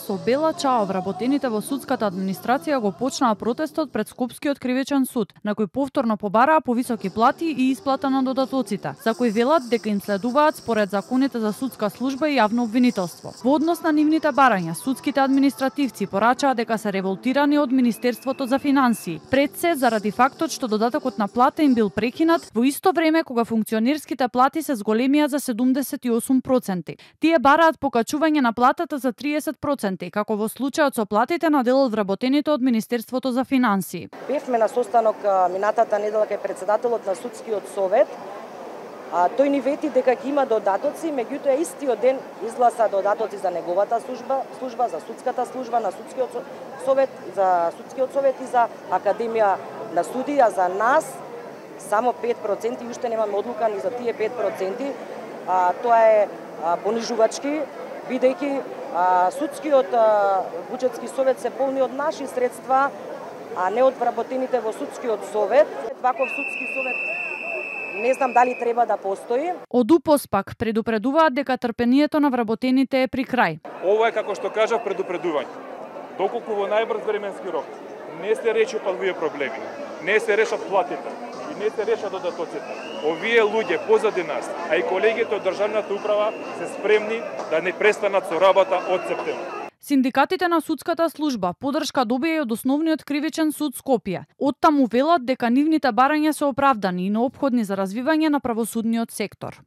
со бела чао вработените во судската администрација го почнаа протестот пред Скопскиот кривичен суд, на кој повторно побараа повисоки плати и исплата на додатоците, за кои велат дека им следуваат според законите за судска служба и јавно обвинителство. Во однос на нивните барања, судските административци порачаа дека се револтирани од Министерството за финансии, пред се заради фактот што додатокот на плата им бил прекинат во исто време кога функционерските плати се зголемија за 78%. Тие бараат покачување на платата за 30%, како во случајот со платите на дел од вработените од Министерството за финансии. Бевме на состанок минатата недела кај председателот на судскиот совет. Тој ни вети дека ќе има додатоци, меѓутоа истиот ден изгласа додатоци за неговата служба, за судската служба на судскиот совет и за Академија на судија. За нас само 5% и уште немаме одлука ни за тие 5%. Тоа е понижувачки, бидејќи судскиот буџетски совет се полни од наши средства, а не од вработените во судскиот совет. Ваков судски совет не знам дали треба да постои. Од УПОС пак предупредуваат дека трпението на вработените е при крај. Ова е, како што кажав, предупредување. Доколку во најбрз временски рок не се решат овие проблеми, не се решат платите и не се решат додатоците, овие луѓе позади нас, а и колегите од државната управа се спремни да не престанат со работа од септември. Синдикатите на судската служба поддршка добија и од Основниот кривичен суд Скопје. Оттаму велат дека нивните барања се оправдани и неопходни за развивање на правосудниот сектор.